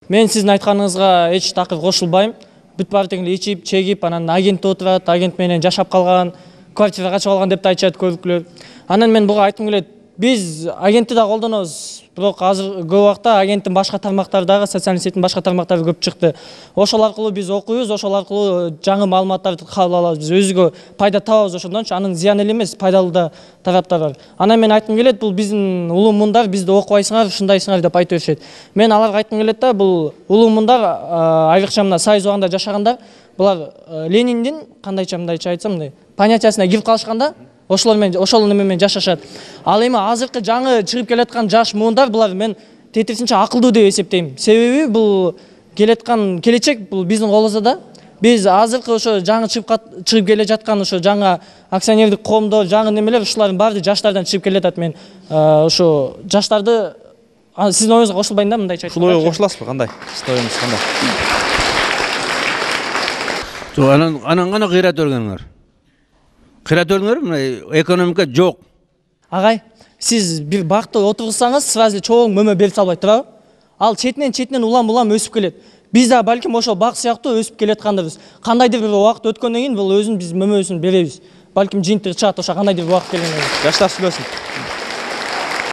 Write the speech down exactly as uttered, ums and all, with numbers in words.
Мен сиздин айтканыңызга эч такыр кошулбайм. Бүт баары тең эле ичип, чегип, анан агент отурат, агент менен жашап калган, квартира качып алган деп да айтышат көбүкүлөр. Анан мен буга айткым келет. Биз агентти да колдонобуз. Бирок азыр көп убакта агенттин башка тармактары дагы, социалдык сеттин башка тармактары көп чыкты. Ошол аркылуу биз окуйбуз, ошол аркылуу жаңы маалыматтарды кабыл алабыз. Биз өзүгө пайда табабыз ошондончу. Анын зыян эле эмес, пайдалуу да тараптары бар. Анан мен айткым келет, бул биздин улуу мундар бизди окубайсыңар, ушундайсыңар деп айтып беришет. Мен аларга айткым келет да, бул улуу мундар айрыкча мына Союз убагында жашагандар, булар Лениндин кандайча мындайча айтсам мындай понятиясына кирип калышканда, ошолор менен ошол неме менен жашашат. Ал эми азыркы жаңы чыгып келаткан жаш муундар булар мен тетирисинче акылдуу деп эсептейм. Себеби бул келаткан келечек бул биздин колубузда да. Биз азыркы ошо жаңы чыгып чыгып келе жаткан ошо жаңа акционердик коомдор, жаңы немелер ушулардын баары жаштардан чыгып келе жатат. Мен ошо жаштарды сиздин оюңузга кошулбайм да, мындайча айтканда. Ушул ойго кошуласызбы? Кандай? Сиздин оюңуз кандай? Жок, анан анан гана кыйрат өргөнүңөр. Кыйрат өргөнүңөр, мына экономика жок. Агай, сиз бир бакты отурсаңыз, сразу чоң мөмө берип салбайт туурабы? Ал четинен четинен улам-улам өсүп келет. Биз да балким ошо бак сыяктуу өсүп келаткандырбыз. Кандайдыр бир убакыт өткөндөн кийин бул өзүн биз мөмөсүн беребиз. Балким жыйынтыгы чыгат ошо кандайдыр бир убакыт келгенде. Жаштар сүйлөсүн.